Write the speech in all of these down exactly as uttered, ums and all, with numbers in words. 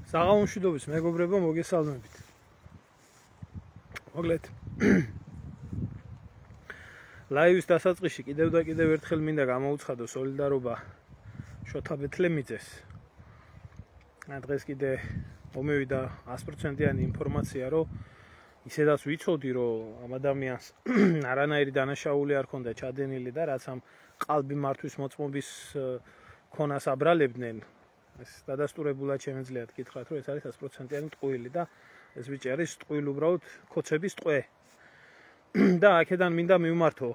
საღამომშვიდობის მეგობრებო, მოგესალმებით. მოგლეთ. ლაივის დასაწყისში კიდევ და კიდევ ერთხელ მინდა გამოუცხადო სოლიდარობა შოთა ბეთლემიძეს. დღეს კიდე მომევიდა ას პროცენტიანი ინფორმაცია, რომ ისედაც ვიცოდი, რომ ამ ადამიანს არანაირი დანაშაული არ ჰქონდა ჩადენილი და რაც ამ ყალბი მართვის მოწმობის ქონას აბრალებდნენ. ეს დადასტურებულად შემეძლიათ გითხრათ, რომ ეს არის ას პროცენტიანი ტყუილი და ეს ბიჭი არის ტყუილი უბრალოდ ქოცების ტყვე. და აქედან მინდა მივმართო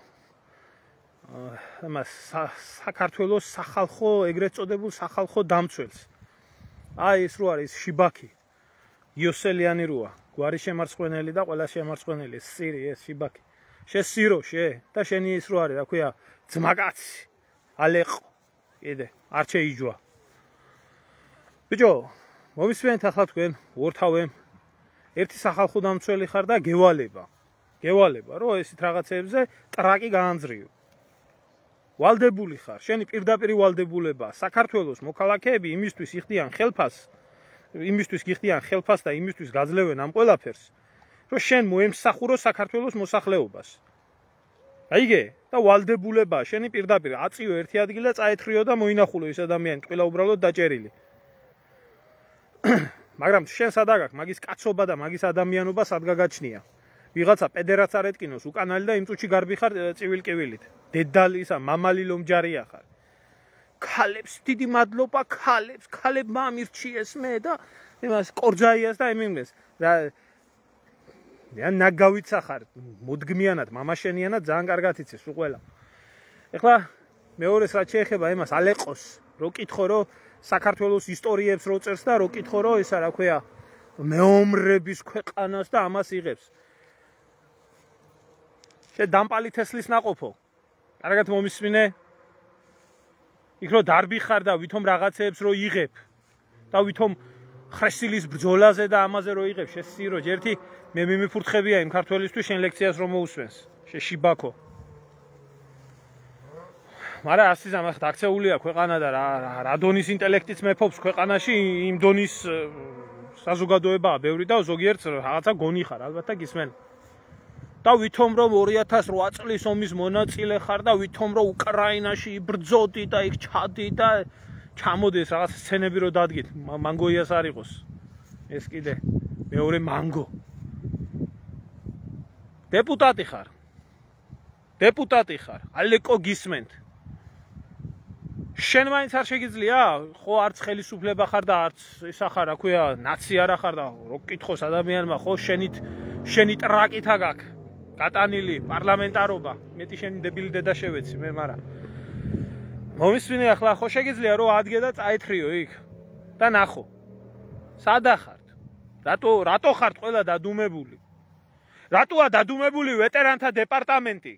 ამას საქართველოს სახალხო, ეგრეთ წოდებულ სახალხო დამცველს. აი ეს რო არის შიბაკი, იოსელიანი როა, გვარი შემარცხვენელი და ყველა შემარცხვენელი, სირი ეს შიბაკი. შესირო შე და შენი ის რო არის, რა ქვია, ძმაკაცი, ალეყო. კიდე არ შეიჯვა. ბიჭო, მომისმენთ ახლა თქვენ ორთავემ ერთი სახალხო დამცველი ხარ და გევალება. გევალება, რომ ესეთ რაღაცებზე ტრაკი გაანძრიო. ვალდებული ხარ, შენი პირდაპირ ვალდებულება, საქართველოს მოქალაქეები იმისთვის იხდიან ხელფას, იმისთვის გიხდიან ხელფას და იმისთვის გაძლევენ ამ ყველაფერს, რომ შენ მოემსახურო საქართველოს მოსახლეობას. აიგე? და ვალდებულება, შენი პირდაპირ აწიო ერთი ადგილი და წაეთრიო და მოინახულო ეს ადამიანი, ყველა უბრალოდ დაჭერილი. მაგრამ შენ სადა გაქვს მაგის კაცობა და მაგის ადამიანობა სად გაგაჩნია? ვიღაცა პედერაც არ ეტკინოს უკანალი და იმ წუთში გარბი ხარ წივილ-კივილით. დედალი ისა მამალი ლომჯარია ხარ. ქალებს დიდი მადლობა ქალებს, ქალებმა ამირჩიეს მე და იმას კორძაიას და ემიმნეს. რა ან ნაგავიცა ხარ, მოდგმიანად, მამაშენიანად ძალიან კარგად იცის სულ ყველა. ეხლა მეორეს რაც შეეხება იმას ალეყოს, რო კითხო რომ საქართველოს ისტორიებს რო წერს და რო კითხო რომ ისა რა ქვია მეომრების ქვეყანას და ამას იღებს. შე დამპალი თესლის ناقოფო. კარგად მომისმინე. იქ რო დარბი ხარ და ვითომ რაღაცეებს რო იღებ და ვითომ ხრესილის ბრძოლაზე და ამაზე რო იღებ, შესირო ჯერთი მე მიმიფურთხებია იმ ქართველისთვის შენ ლექციას რომ მოусვენს. შე შიბაკო. მაგრამ ასიზამ ახლა აქცეულია ქვეყანა და რა დონის ინტელექტიც მეფობს ქვეყანაში, იმ დონის საზოგადოებაა ბევრი და ზოგიერთს რაღაცა გონი ხარ, ალბათ და გისმენ. და ვითომ რომ ორი ათას რვა წლის ომის მონაწილე ხარ და ვითომ რომ უკრაინაში იბრძოდი და იქ ჩადი და ჩამოდეს რაღაც სცენები რო დადგით, მანგოიას არ იყოს. ეს კიდე მეორე მანგო. დეპუტატი ხარ. დეპუტატი ხარ. ალეკო გისმენთ. შენ მაინც არ შეგიძლია, ხო არც ხელისუფლება ხარ და არც ისა ხარ, რა ქვია, ნაცი არა ხარ და რო კითხოს ადამიანმა, ხო შენით შენი ტრაკით აგაკ. გატანილი პარლამენტარობა, მეტი შენი დებილი დედა შევეცი მე, მაგრამ მომისმინე ახლა ხო შეგიძლია რომ ადგე და წაეთრიო იქ და ნახო. სადა ხართ? რატო რატო ხართ ყველა დადუმებული? რატოა დადუმებული ვეტერანთა დეპარტამენტი?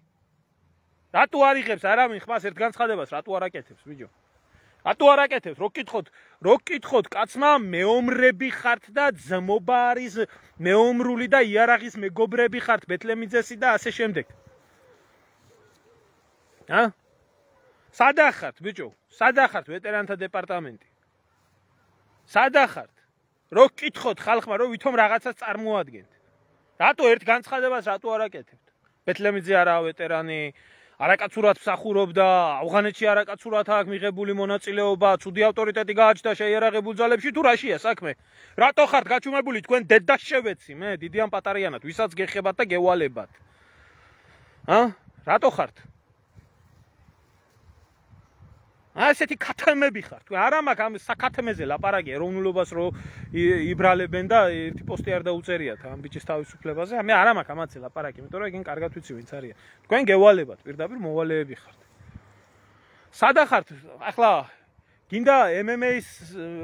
რატო არ იღებს არავინ ხმას ერთ განცხადებას, რატო არ აკეთებს, ბიჭო? რატო არ აკეთებს? რო კითხოთ, რო კითხოთ კაცმა, მეომრები ხართ და ძმობა არის მეომრული და იარაღის მეგობრები ხართ ბეთლემიძესი და ასე შემდეგ. ა? სადა ხართ, ბიჭო? სადა ხართ ვეტერანთა დეპარტამენტი? სადა ხართ? რო კითხოთ ხალხმა, რომ ვითომ რაღაცას წარმოადგენთ. რატო ერთ განცხადებას რატო არ აკეთებთ? ბეთლემიძე არაა ვეტერანი, არაკაცურად მსახურობდა, ავღანეთში არაკაცურად აქვს მიღებული მონაწილეობა, ცუდი ავტორიტეტი გააჩნდა შეიარაღებულ ძალებში, თუ რაშია საქმე? რატო ხართ გაჩუმებული თქვენ დედას შევეცი, მე დიდი ამ პატარიანად, ვისაც გეხებათ და გევალებათ. ა? რატო ხართ? ასეთი ქათმები ხართ. თქვენ არა მაქვს ამ საქათმეზე ლაპარაკი ეროვნულობას რო იბრალებენ და ერთი პოსტი არ დაუწერიათ ამ ბიჭის თავისუფლებაზე. მე არა მაქვს ამაზე ლაპარაკი, იმიტომ რომ ეგენ კარგად ვიცი ვინც არის. თქვენ გევალებათ, პირდაპირ მოვალეები ხართ. სადა ხართ? ახლა გინდა ემ ემ ეის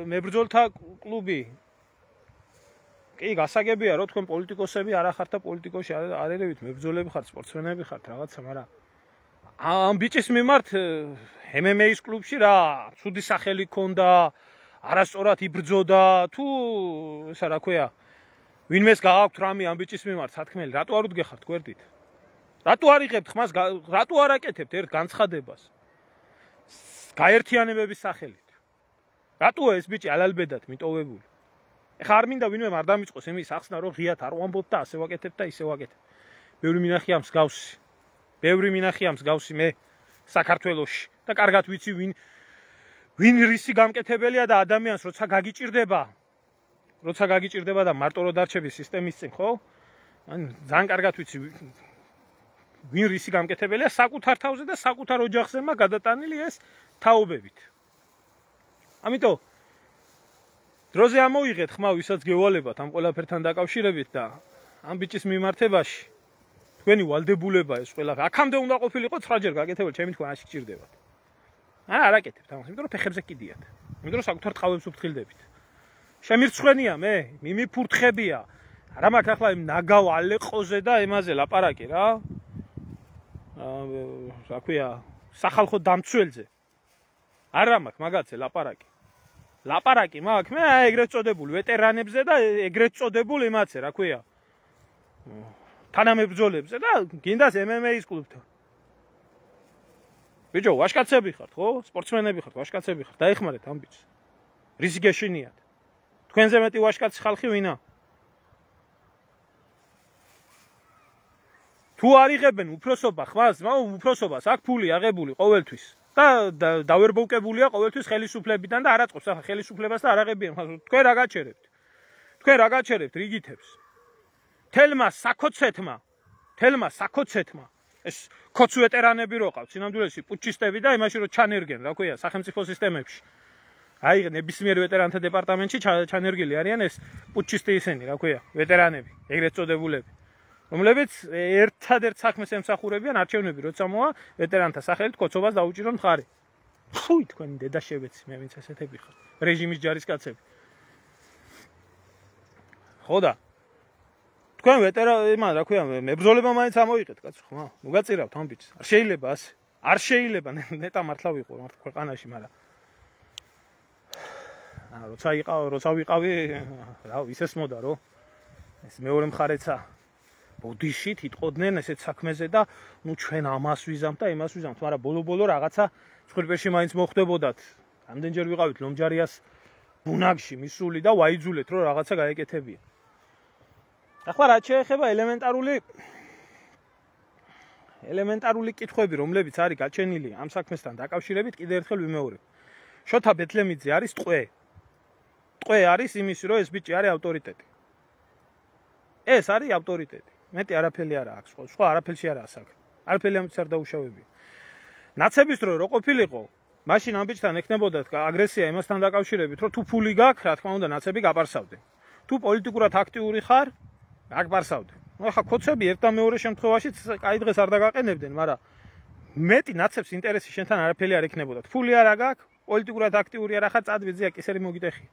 მებრძოლთა კლუბი. კი, გასაგებია რომ თქვენ პოლიტიკოსები არა ხართ და პოლიტიკოში არ ერევით, მებრძოლები ხართ, სპორტსმენები ხართ, რაღაცა, მაგრამ ამ ბიჭის მიმართ ემ ემ ეის კლუბში რა ცუდი სახელი ქონდა, არასწორად იბრძოდა, თუ ისა რა ქვია, ვინმეს გააქვთ რამე ამ ბიჭის მიმართ სათქმელი, რატო არ უდგეხართ გვერდით? რატო არ იღებთ ხმას, რატო არ აკეთებთ ერთ განცხადებას? გაერთიანებების სახელით. რატოა ეს ბიჭი ალალბედად მიტოვებული? ეხა არ მინდა ვინმე არ დამიწყოს იმის ახსნა რომ ღიათ არ ვამბობ და ასე ვაკეთებ და ისე ვაკეთებ. ბევრი მინახია მსგავსი. ბევრი მინახია მსგავსი მე საქართველოში და კარგად ვიცი ვინ ვინ რისი გამკეთებელია და ადამიანს როცა გაგიჭირდება როცა გაგიჭირდება და მარტო რო დარჩების სისტემის წინ, ხო? ან ძალიან კარგად ვიცი ვინ რისი გამკეთებელია საკუთარ თავზე და საკუთარ ოჯახზემა გადატანილი ეს თაობებით. ამიტომ დროზე ამოიღეთ ხმა ვისაც გევალებათ ამ ყველაფერთან დაკავშირებით და ამ ბიჭის მიმართებაში თქვენი ვალდებულება ეს ყველა აქამდე უნდა ყოფილიყო ცხრაჯერ გაკეთებულ ჩემი თქვენ აში გჭირდებათ. არა არ აკეთებთ ამას, იმიტომ რომ ფეხებზე კიდიათ. იმიტომ რომ საკუთარ ტყავებს უფრთხილდებით. შემირცხვენია მე, მიმიფურთხებია. რა მაქვს ახლა იმ ნაგავ ალეყოზე და ემაზე ლაპარაკი რა. აა რა ქვია, სახალხო დამცველზე. არა მაქვს მაგაცე ლაპარაკი. ლაპარაკი მაქვს მე ეგრეთ წოდებული ვეტერანებზე და ეგრეთ წოდებული იმაცე, რა ქვია. თანამებრძოლებზე და გინდას ემ ემ ეის კლუბთან. ბიჭო, ვაშკაცები ხართ, ხო? სპორტსმენები ხართ, ვაშკაცები ხართ. დაეხმარეთ ამ ბიჭს. რისი გეშინიათ? თქვენზე მეტი ვაშკაცი ხალხი ვინა? თუ არიღებენ უფროსობა ხმას, მაგრამ უფროსობას აქ ფული აღებული ყოველთვის და დავერბოვკებულია ყოველთვის ხელისუფლებიდან და არაწყობს ახლა ხელისუფლებას და არ აღებიან. თქვენ რა გაჩერებთ? თქვენ რა გაჩერებთ რიგითებს? თელმა საკოცეთმა, თელმა საკოცეთმა ეს ქოც ვეტერანები რო ყავთ, სინამდვილეში პუჩისტები და იმაში რო ჩანერგენ, რა ქვია, სახელმწიფო სისტემებში. აი, ნებისმიერ ვეტერანთა დეპარტამენტში ჩანერგილი არიან ეს პუჩისტი ისინი, რა ქვია, ვეტერანები, ეგრეთ წოდებულები, რომლებიც ერთადერთ საქმეს ემსახურებიან არჩევნები, როცა მოვა ვეტერანთა სახელით კოცობას დაუჭირონ მხარი. ფუი, თქვენი დედაშებეცი, მე ვინც ესეთები ხარ, რეჟიმის ჯარისკაცები. ხო და თქვენ ვეტერანი, იმან რა ქვია, მებრძოლება მაინც ამოიღეთ, კაცო, ხო? მოგაწირავთ ამ ბიჭს. არ შეიძლება ასე. არ შეიძლება, ნეტა მართლა ვიყო მართ ქვეყანაში, მაგრამ აა როცა იყავ, როცა ვიყავი, რა ისეს მოდა რო ეს მეორე მხარეცა ბოდიში თიტყოდნენ ესეთ საქმეზე და ნუ ჩვენ ამას ვიზამთ და იმას ვიზამთ, მაგრამ ბოლო-ბოლო რაღაცა ცხრილში მაინც მოხდებოდათ. რამდენჯერ ვიყავით ლომჯარიას ბუნაგში მისული და ვაიძულეთ რომ რაღაცა გაეკეთებია. ახლა რაც შეეხება ელემენტარული ელემენტარული კითხვები, რომლებიც არის გაჩენილი ამ საქმესთან დაკავშირებით, კიდევ ერთხელ ვიმეორებ. შოთა ბეთლემიძე არის ტყვე. ტყვე არის იმისი, რომ ეს ბიჭი არის ავტორიტეტი. ეს არის ავტორიტეტი. მეტი არაფერი არა აქვს, სხვა არაფერში არა საქმე. არაფერი ამის არ დაუშავებია. ნაცების დრო რო ყოფილიყო, მაშინ ამ ბიჭთან ექნებოდა აგრესია იმასთან დაკავშირებით, რომ თუ ფული გაქვს, რა თქმა უნდა, ნაცები გაპარსავდნენ. თუ პოლიტიკურად აქტიური ხარ, აგპარსავდნენ. ნუ ახლა კოცები ერთ და მეორე შემთხვევაში კაი დღეს არ დაგაყენებდნენ, მაგრამ მეტი ნაცებს ინტერესი შენთან არაფერი არ ექნებოდა. ფული არა გაქვს, პოლიტიკურად აქტიური არა ხარ, წადვიძია კისერი მოგიტეხი.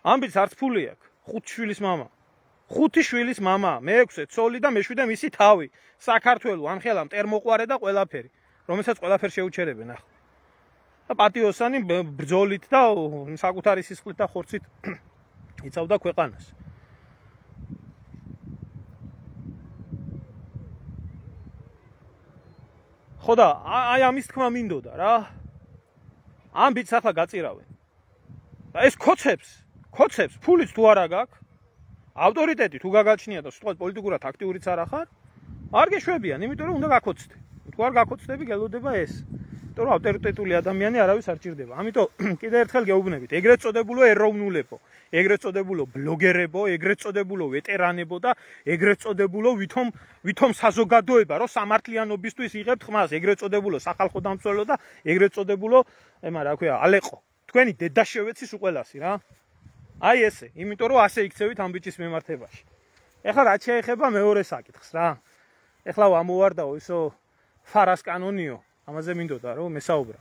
ამ ბიჭს არც ფული აქვს, ხუთი შვილის მამა. ხუთი შვილის მამა, მეექვსე ცოლი და მეშვიდე მისი თავი. საქართველოს ამხელა მტერმოყვარე და ყველაფერი, რომელსაც ყველაფერ შეუჩერებენ ახლა. და პატიოსანი ბრძოლით და საკუთარი სისხლით და ხორცით იცავდა ქვეყანას. ხო და აი ამის თქმა მინდოდა რა. ამ ბიჭს ახლა გაწირავენ. და ეს კოცებს, კოცებს ფულიც თუ არა გაქვს, ავტორიტეტი თუ გაგაჩნია და სიტყვას პოლიტიკურად აქტიურიც არა ხარ, არ გეშვებიან, იმიტომ რომ უნდა გაკოცდე. თუ არ გაკოცდები, გელოდება ეს. იმიტომ რომ ავტორიტეტული ადამიანი არავის არ ჭირდება. ამიტომ კიდევ ერთხელ გეუბნებით, ეგრეთ წოდებულო ეროვნულებო, ეგრეთ წოდებულო ბლოგერებო, ეგრეთ წოდებულო ვეტერანებო და ეგრეთ წოდებულო ვითომ ვითომ საზოგადოება, რომ სამართლიანობისთვის იღებთ ხმას, ეგრეთ წოდებულო სახალხო დამცველო და ეგრეთ წოდებულო, ема რა ქვია, ალეყო. თქვენი დედაშევეცის უყელასი რა. აი ესე, იმიტომ რომ ასე იქცევით ამ ბიჭის მიმართებაში. ეხლა რაც შეეხება მეორე საკითხს რა. ეხლა ამოვარდაო ისო ფარას კანონიო, ამაზე მინდოდა რომ მესაუბრა.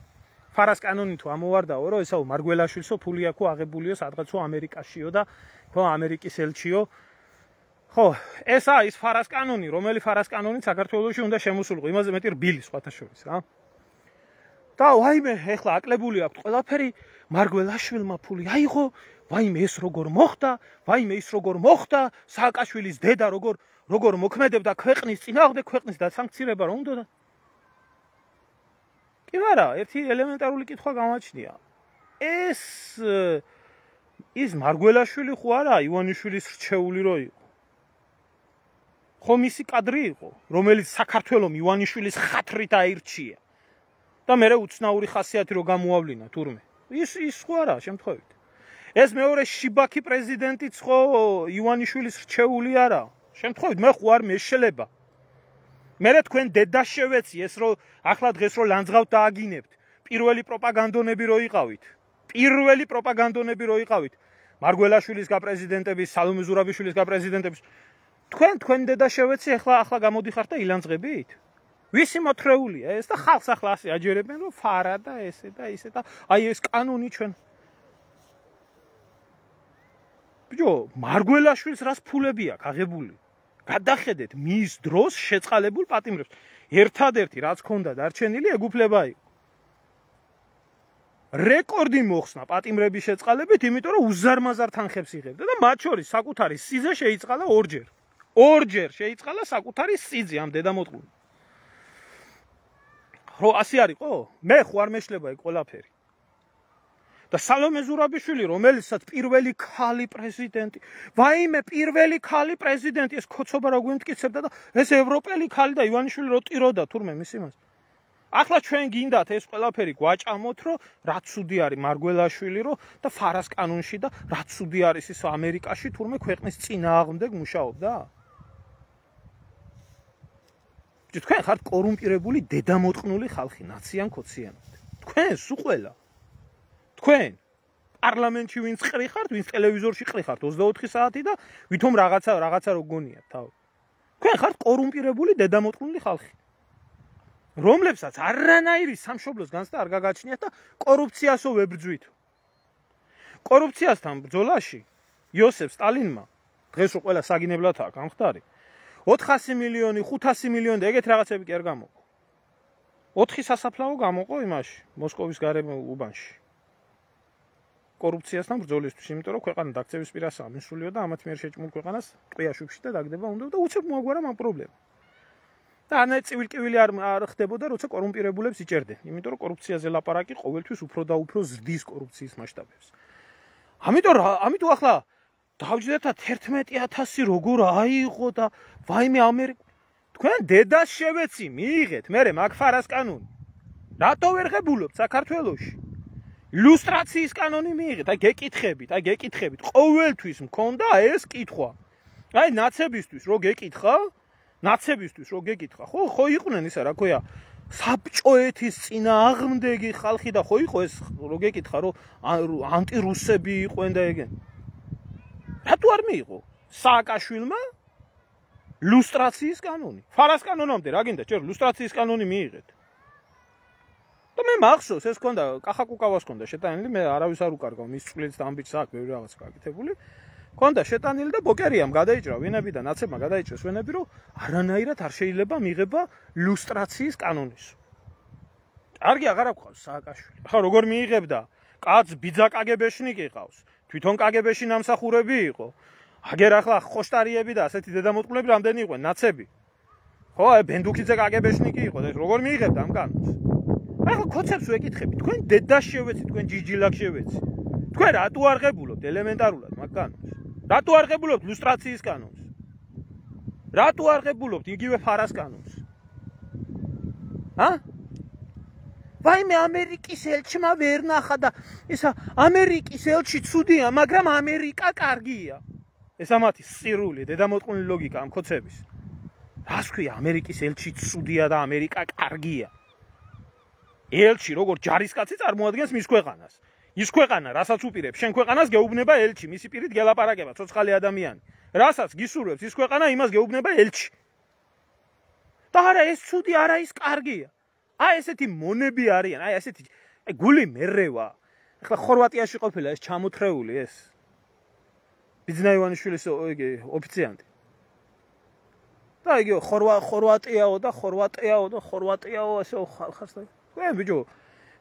ფარას კანონი თუ ამოვარდაო, რომ ესაო მარგველაშვილსო ფული აქო აღებულიო სადღაცო ამერიკაშიო და ხო ამერიკის ელჩიო. ხო, ეს არის ფარას კანონი, რომელი ფარას კანონი საქართველოში უნდა შემოსულიყო, იმაზე მეტი რბილი სხვათა შორის რა. და ვაიმე, ეხლა აკლებული აქვს ყველაფერი მარგველაშვილმა ფული აიღო, ვაიმე ეს როგორ მოხდა, ვაიმე ის როგორ მოხდა, სააკაშვილის დედა როგორ როგორ მოქმედებდა ქვეყნის წინააღმდეგ, ქვეყნის დასანქცირება რომ უნდა. კი არა, ერთი ელემენტარული კითხვა გამაჩნია. ეს ის მარგველაშვილი ხო არა ივანიშვილის რჩეული რო იყო. ხო მისი კადრი იყო, რომელიც საქართველოს ივანიშვილის ხათრით აირჩია. და მე უცნაური ხასიათი რო გამოავლინა თურმე. ის ის ხო არა შემთხვევით. ეს მეორე შიბაქი პრეზიდენტიც ხო ივანიშვილის რჩეული არა. შემთხვევით მე ხო არ მეშლება. მე თქვენ დედას შევეცი ეს რო ახლა დღეს რო ლანძღავთ დააგინებთ. პირველი პროპაგანდონები რო იყავით. პირველი პროპაგანდონები რო იყავით. მარგველაშვილის გაპრეზიდენტების, სალომე ზურაბიშვილის გაპრეზიდენტების თქვენ თქვენ დედა შევეცი ახლა ახლა გამოდიხართ და ილანძღებით? ვისი მოთრეულია ეს და ხალხს ახლა ასე აჯერებენ რომ ფარა და ესე და ისე და აი ეს კანონი ჩვენ ბიჭო მარგველაშვილს რას ფულები აქვს აღებული გადახედეთ მის დროს შეწყალებულ პატიმრებს ერთადერთი რაც ქონდა დარჩენილი ეგუფლება იყო რეკორდი მოხსნა პატიმრების შეწყალებით იმიტომ რომ უზარმაზარ თანხებს იღებდა და მათ შორის საკუთარი სიძე შეიწყალა ორჯერ ორჯერ შეიწყალა საკუთარი სიძე ამ დედამოწყული რო ასე არისო მე ხო არ მეშლება ეგ ყველაფერი და სალომე ზურაბიშვილი რომელიცაც პირველი ქალი პრეზიდენტი ვაიმე პირველი ქალი პრეზიდენტი ეს ქოცობა რა გვემტკიცებდა და ეს ევროპელი ქალი და ივანიშვილი რო ტიროდა თურმე მის იმას ახლა ჩვენ გინდათ ეს ყველაფერი გვაჭამოთ რომ რა ცუდი არის მარგველაშვილი რო და ფარას კანონში და რა ცუდი არის ის ამერიკაში თურმე ქვეყნის წინააღმდეგ მუშაობდა თქვენ ხართ კორუმპირებული დედამოტყნული ხალხი ნაციან ქოციანად თქვენ სულ ყველა თქვენ პარლამენტში ვინც ყრი ხართ ვინც ტელევიზორში ყრი ხართ ოცდაოთხი საათი და ვითომ რაღაცა რაღაცა რო გონიათ თავი თქვენ ხართ კორუმპირებული დედამოტყნული ხალხი რომლებსაც არანაირი სამშობლოს განცდა არ გაგაჩნიათ და კორუფციასო ვებრძვით კორუფციასთან ბრძოლაში იოსებ სტალინმა დღეს რო ყველა საგინებლათაა გამხდარი ოთხასი მილიონი ხუთასი მილიონი და ეგეთ რაღაცები კი არ გამოყო ოთხი სასაფლაო გამოყო იმაში მოსკოვის გარემო უბანში კორუფციასთან ბრძოლისთვის იმიტომ რომ ქვეყანა დაქცევის პირასაა მისულიო და ამათ მიერ შეჭმულ ქვეყანას ტყიაშუბში და დაგდება უნდა და უცებ მოაგვარა ამ პრობლემა და ანე წივილ-კივილი არ არ ხდებოდა როცა კორუმპირებულებს იჭერდნენ იმიტომ რომ კორუფციაზე ლაპარაკი ყოველთვის უფრო და უფრო ზრდის კორუფციის მასშტაბებს ამიტომ ამიტომ ახლა დავჯდეთ თერთმეტი ათასი როგორ აიღო და ვაიმე ამერიკა თქვენ დედას შევეცი მიიღეთ მე მაგ ფარას კანონი რატო ვერ ღებულობთ საქართველოში ილუსტრაციის კანონი მიიღეთ აი გეკითხებით აი გეკითხებით ყოველთვის მქონდა ეს კითხვა აი ნაცებისთვის რო გეკითხა ნაცებისთვის რო გეკითხა ხო ხო იყვნენ ისა რა ქვია საბჭოეთის წინააღმდეგი ხალხი და ხო იყო ეს რო გეკითხა რომ ანტირუსები იყვნენ და ეგენ რატო არ მიიღო სააკაშვილმა ლუსტრაციის კანონი ფარას კანონამდე რა გინდა ჯერ ლუსტრაციის კანონი მიიღეთ და მე მახსოვს ეს ქონდა კახაკუკავას ქონდა შეტანილი მე არავის არ უკარგავ მის წვლილს და ამბიც აქვს ბევრი რაღაც გაკეთებული ქონდა შეტანილი და ბოკერიამ გადაიჭრა ვინები და ნაცებმა გადაიჭრეს ვინები რომ არანაირად არ შეიძლება მიღება ლუსტრაციის კანონის კარგი აღარ აქვს სააკაშვილი ხა როგორ მიიღებდა კაც ბიძა კაგებეშნიკი ყავს თვითონ კაგებეში ნამსახურები იყო აგერ ახლა ხოშტარიები და ასეთი დედამოტყლები რამდენი იყვნენ ნაცები ხო აი ბენდუქიძე კაგებეშნიკი იყო და როგორ მიიღებდა ამ კანონს ახლა ქოცებს ვეკითხები თქვენ დედას შევეცი თქვენ ჯიჯილაკ შევეცი თქვენ რატო არ ღებულობთ ელემენტარულად მაგ კანონს რატო არ ღებულობთ ლუსტრაციის კანონს რატო არ ღებულობთ იგივე ფარას კანონს ა ვაიმე ამერიკის ელჩმა ვერ ნახა და ისა ამერიკის ელჩი ცუდია მაგრამ ამერიკა კარგია ეს ამათი სირული დედამოტყნული ლოგიკა ამ ქოცების რას ქვია ამერიკის ელჩი ცუდია და ამერიკა კარგია ელჩი როგორ ჯარისკაცი წარმოადგენს მის ქვეყანას ის ქვეყანა რასაც უპირებს შენ ქვეყანას გეუბნება ელჩი მისი პირით გელაპარაკება ცოცხალი ადამიანი რასაც გისურვებს ის ქვეყანა იმას გეუბნება ელჩი და არა ეს ცუდი არა ის კარგია აი ესეთი მონები არიან აი ესეთი აი გული მერევა ახლა ხორვატიაში ყოფილა ეს ჩამოთრეული ეს ბიძნა ივანიშვილის იგი ოფიციანტი და იგი ხორვა ხორვატიაო და ხორვატიაო და ხორვატიაო ესე ხალხს თქვენ ბიჭო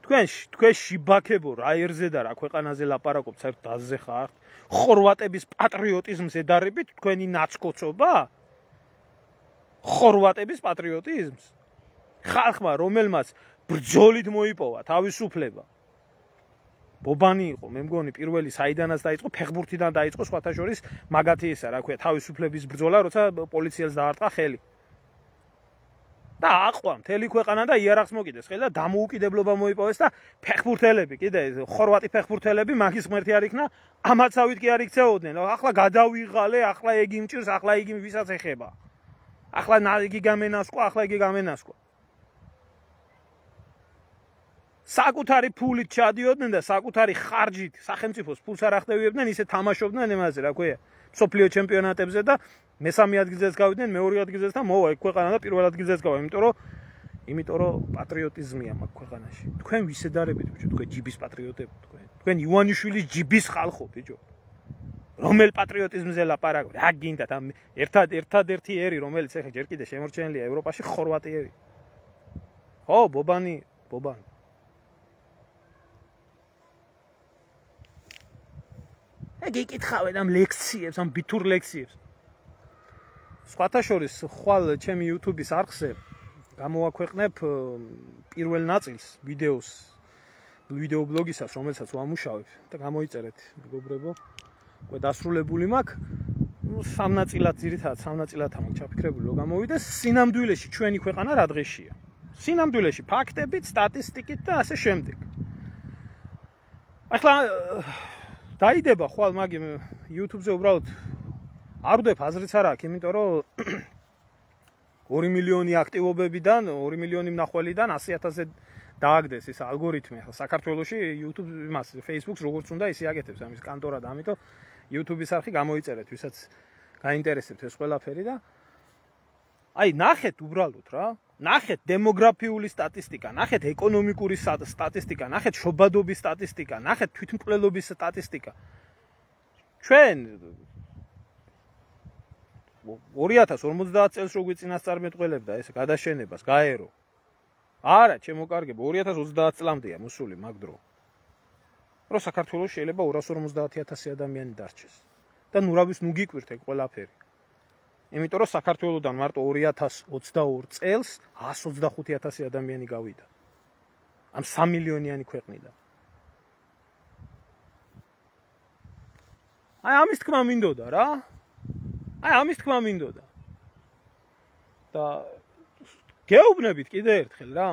თქვენ თქვენ შიბაქებო რა ერზე და რა ქვეყანაზე ლაპარაკობთ საერთოდ დაზე ხართ ხორვატების პატრიოტიზმს ედარებით თქვენი ნაცკოცობა ხორვატების პატრიოტიზმს ხალხმა რომელმაც ბრძოლით მოიპოვა თავისუფლება ბობანი იყო, მე მგონი პირველი საიდანაც დაიწყო, ფეხბურთიდან დაიწყო, სხვათა შორის მაგათი ისა, რა ქვია, თავისუფლების ბრძოლა, როცა პოლიციელს დაარტყა ხელი. და აყვა მთელი ქვეყანა და იარაღს მოკიდეს ხელი და დამოუკიდებლობა მოიპოვეს და ფეხბურთელები, კიდე ხორვატი ფეხბურთელები მაგის ღმერთი არ იქნა, ამაცავით კი არ იქცეოდნენ. ახლა გადავიღალე, ახლა ეგი მჭირს, ახლა იგი ვისაც ეხება. ახლა იგი გამენასკვა, ახლა იგი გამენასკვა. საკუთარი ფულით ჩადიოდნენ და საკუთარი ხარჯით სახელმწიფოს ფულს არ ახდევიებდნენ, ისე თამაშობდნენ ემაზე, რა ქვია, მსოფლიო ჩემპიონატებზე და მესამე ადგილზეც გავიდნენ, მეორე ადგილზეც და მოვა ეგ ქვეყანა და პირველ ადგილზეც გავა, იმიტომ რომ იმიტომ რომ პატრიოტიზმია მაგ ქვეყანაში. თქვენ ვისედარებით, ბიჭო, თქვენ ჯიბის პატრიოტები, თქვენ. თქვენ ივანიშვილის ჯიბის ხალხო, ბიჭო. რომელ პატრიოტიზმზე ლაპარაკობთ? რა გინდათ ამ ერთად ერთადერთი ერი, რომელიც ახლა ჯერ კიდე შემორჩენილია ევროპაში, ხორვატი ერი. ხო, ბობანი, ბობანი. ეგ იკითხავენ ამ ლექციებს, ამ ბითურ ლექციებს. სხვათა შორის, ხვალ ჩემი YouTube-ის არხზე გამოვაქვეყნებ პირველ ნაწილს ვიდეოს, ვიდეო ბლოგისას, რომელსაც ვამუშავებ და გამოიწერეთ, მეგობრებო. უკვე დასრულებული მაქვს. ნუ სამ ნაწილად ძირითადად სამ ნაწილად მაქვს ჩაფიქრებული, რომ გამოვიდეს სინამდვილეში ჩვენი ქვეყანა რა დღეშია. სინამდვილეში ფაქტებით, სტატისტიკით და ასე შემდეგ. ახლა დაიდება ხვალ მაგი YouTube-ზე უბრალოდ არ ვდებ აზრიც არ აქვს, იმიტომ რომ ორი მილიონი აქტივობებიდან, ორი მილიონი მნახველიდან ასი ათასზე დააგდეს ეს ალგორითმი. ახლა საქართველოში YouTube იმას Facebook-ს როგორც უნდა ისე აკეთებს ამის კანტორა და ამიტომ YouTube-ის არხი გამოიწერეთ, ვისაც გაინტერესებთ ეს ყველაფერი და აი ნახეთ უბრალოდ რა, ნახეთ დემოგრაფიული სტატისტიკა, ნახეთ ეკონომიკური სტატისტიკა, ნახეთ შობადობის სტატისტიკა, ნახეთ თვითმკვლელობის სტატისტიკა. ჩვენ ორი ათას ორმოცდაათ წელს რო გვიწინასწარმეტყველებდა ეს გადაშენებას, გაერო. არა, ჩემო კარგებო, ორი ათას ოცდაათ წლამდეა მოსული მაგ დრო. რომ საქართველოს შეიძლება ორას ორმოცდაათი ათასი ადამიანი დარჩეს. და ნუ რა ვის ნუ გიკვირთ ეგ ყველაფერი. იმიტომ რომ საქართველოსდან მარტო ორი ათას ოცდაორი წელს ას ოცდახუთი ათასი ადამიანი გავიდა. ამ სამ მილიონიანი ქვეყნიდან. აი ამის თქმა მინდოდა რა. აი ამის თქმა მინდოდა. და გეუბნებით კიდე ერთხელ რა.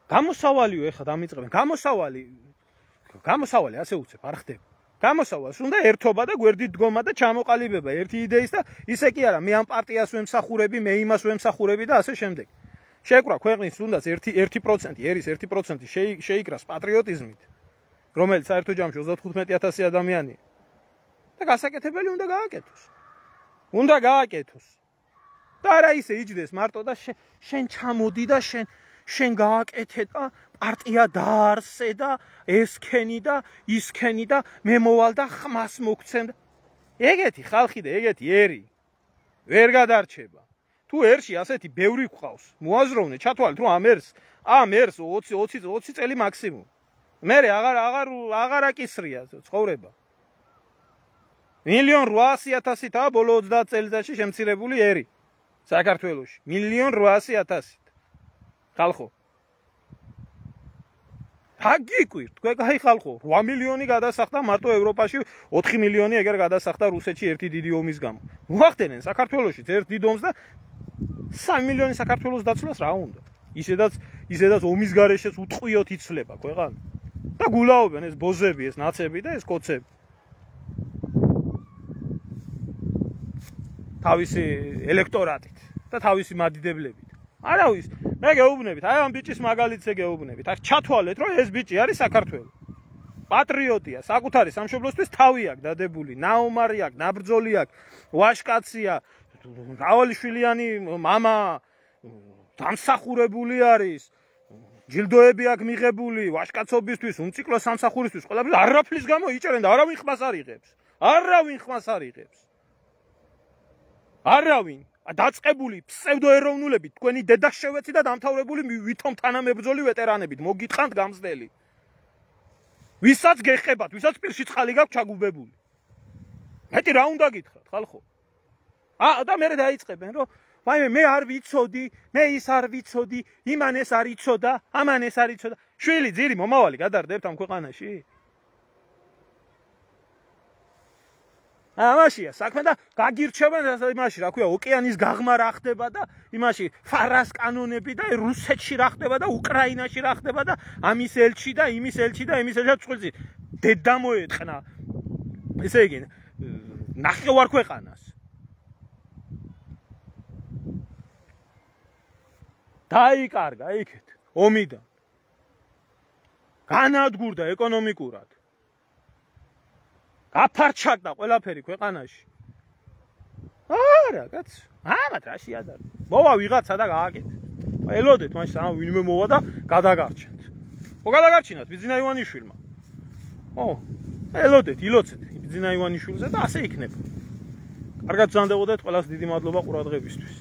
გამოსავალიო ეხლა დამიწყებენ. გამოსავალი გამოსავალი ასე უცებ არ ხდება. გამოსავალს უნდა ერთობა და გვერდით დგომა და ჩამოყალიბება ერთი იდეის და ისე კი არა მე ამ პარტიას ვემსახურები, მე იმას ვემსახურები და ასე შემდეგ. შეკრა ქვეყნის თუნდაც ერთი პროცენტი, ერის ერთი პროცენტი შეიკრას პატრიოტიზმით, რომელიც საერთო ჯამში ოცდათხუთმეტი ათასი ადამიანია. და გასაკეთებელი უნდა გააკეთოს. უნდა გააკეთოს. და არა ისე იჯდეს მარტო და შენ ჩამოდი და შენ შენ გააკეთე და პარტია დაარსე და ესქენი და ისქენი და მე მოვალ და ხმას მოგცემ. ეგეთი ხალხი და ეგეთი ერი ვერ გადარჩება. თუ ერში ასეთი ბევრი გვყავს, მოაზროვნე, ჩათვალეთ რომ ამ ერს, ამ ერს ოცი ოცი ოცი წელი მაქსიმუმ. მე აღარ აღარ აღარ აკისრია ცხოვრება. მილიონ რვაასი ათასითაა ბოლო ოცდაათ წელიწადში შემცირებული ერი საქართველოში. მილიონ რვაასი ათასით. ხალხო. ჰაგიკვირ, თქვენ კაი ხალხო, რვა მილიონი გადასახდა მარტო ევროპაში, ოთხი მილიონი ეგერ გადასახდა რუსეთში ერთი დიდი ომის გამო. მოახდენენ საქართველოში ერთ დიდ ომს და სამი მილიონი საქართველოს დაცვლას რა უნდა? ისედაც ისედაც ომის გარეშეც უტყვიოთ იცლება ქვეყანა. და გულაობენ ეს ბოზები, ეს ნაცები და ეს კოცები. თავისი ელექტორატით და თავისი მადიდებლებით. არავის, მე გეუბნებით, აი ამ ბიჭის მაგალითზე გეუბნებით. აქ ჩათვალეთ, რომ ეს ბიჭი არის საქართველოს. პატრიოტია, საკუთარი სამშობლოსთვის თავი აქვს დადებული, ნაომარი აქვს, ნაბრძოლი აქვს, ვაშკაცია, რავალიშვილიანი მამა დამსახურებული არის. ჯილდოები აქვს მიღებული ვაშკაცობისთვის, უმციკლო სამსახურისთვის, ყველაფერს არაფრის გამო იჭერენ და არავინ ხმას არ იღებს. არავინ ხმას არ იღებს. არავინ დაწყებული ფსევდოეროვნულებით თქვენი დედა შევეცი და დამთავრებული ვითომ თანამებრძოლი ვეტერანებით მოგიტყანთ გამზდელი. ვისაც გეხებათ, ვისაც პირში წყალი გაქვთ ჩაგუბებული. მეტი რა უნდა გითხრათ, ხალხო? აა და მე დაიწყებენ, რომ ვაიმე მე არ ვიცოდი, მე ის არ ვიცოდი, იმან ეს არ იცოდა, ამან ეს არ იცოდა. შვილი, ძირი, მომავალი გადარდებთ ამ ქვეყანაში? ამაშია საქმე და გაგირჩევენ იმაში, რა ქვია, ოკეანის გაღმა რა ხდება და იმაში ფარას კანონები და რუსეთში რა ხდება და უკრაინაში რა ხდება და ამის ელჩი და იმის ელჩი და იმის ელჩი წყვილზე დედა მოეწყნა. ესე იგი, ნახევარ ქვეყანას. დაიკარგა იქეთ ომიდან. განადგურდა ეკონომიკურად. გაფარჩაკდა ყველაფერი ქვეყანაში. არა, კაც. ამათ რა შეადარდა. მოვა ვიღაცა და გააკეთე. ელოდეთ მაშინ ამ ვინმე მოვა და გადაგარჩენთ. ხო გადაგარჩინათ ბიძინა ივანიშვილმა. ო, ელოდეთ, ილოცეთ ბიძინა ივანიშვილზე და ასე იქნება. კარგად ბრძანდებოდეთ, ყველას დიდი მადლობა ყურადღებისთვის.